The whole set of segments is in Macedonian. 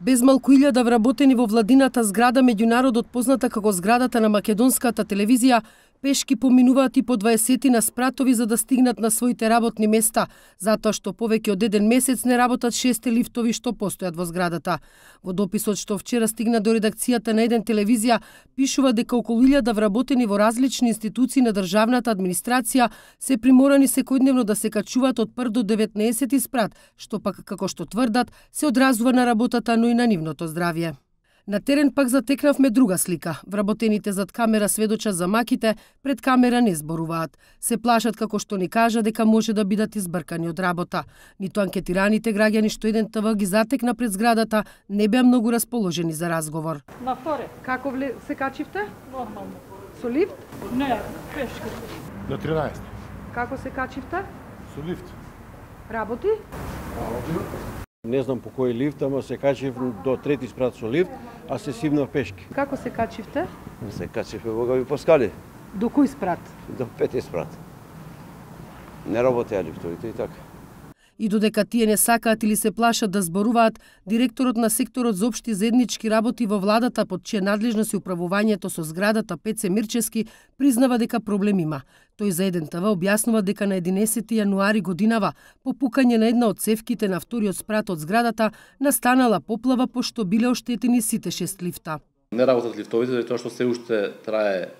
Без малку 1000 вработени во владината зграда меѓународот позната како зградата на македонската телевизија пешки поминуваат и по 20 спратови за да стигнат на своите работни места, затоа што повеќе од 1 месец не работат 6 лифтови што постојат во зградата. Во дописот што вчера стигна до редакцијата на еден телевизија, пишува дека околу 1000 вработени во различни институции на државната администрација се приморани секојдневно да се качуваат од 1 до 19 спрат, што пак, како што тврдат, се одразува на работата, но и на нивното здравје. На терен пак затекнавме друга слика. Вработените зад камера сведочат за маките, пред камера не зборуваат. Се плашат како што ни кажа дека може да бидат избркани од работа. Ниту анкетираните граѓани што еден ТВ ги затекна пред зградата не беа многу расположени за разговор. На вторе. Како се качивте? Нормално. Со лифт? Не, пешки. На 13. Како се качивте? Со лифт. Работи? Не знам по кој лифт, ама се качив до 3 спрат со лифт, а се симнав пешки. Како се качивте? Се качив богави по скали. До кој спрат? До 5 спрат. Не работеа лифтовите и така. И додека тие не сакаат или се плашат да зборуваат, директорот на секторот за општи заеднички работи во владата под чија надлежност е управувањето со зградата Пеце Мирчевски признава дека проблем има. Тој за еден ТВ објаснува дека на 11 јануари годинава, по пукање на една од цевките на вториот спрат од зградата, настанала поплава пошто биле оштетени сите 6 лифта. Не работат лифтовите затоа што се уште трае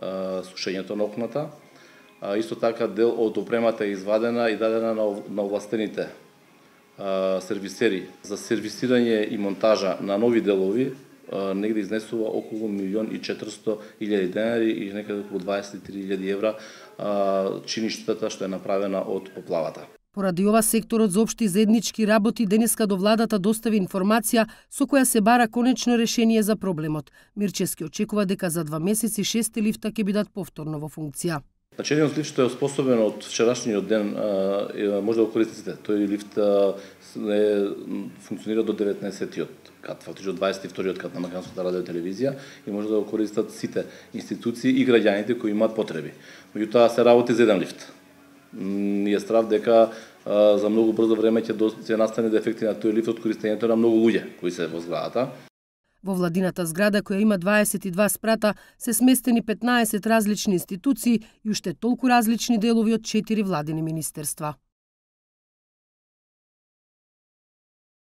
сушењето на окната. Исто така дел од опремата е извадена и дадена на овластените сервисери за сервисирање и монтажа на нови делови, негде изнесува околу 1.400.000 денари и некаде околу 23.000 евра чини штетата што е направена од поплавата. Поради ова секторот за општи заеднички работи денеска до владата достави информација со која се бара конечно решение за проблемот. Мирчевски очекува дека за 2 месеци 6 лифта ќе бидат повторно во функција. Значи, еден лифт што е способен од вчерашниот ден може да го користите. Тој лифт функционира до 19-тиот кат, фактично 22-тиот кат на Македонската радио телевизија и може да го користат сите институции и граѓаните кои имаат потреби. Меѓутоа се работи за еден лифт. Ние страв дека за многу брзо време ќе настане дефекти на тој лифт од користењето на многу луѓе кои се во зградата. Во владината зграда, која има 22 спрата, се сместени 15 различни институции и уште толку различни делови од 4 владини министерства.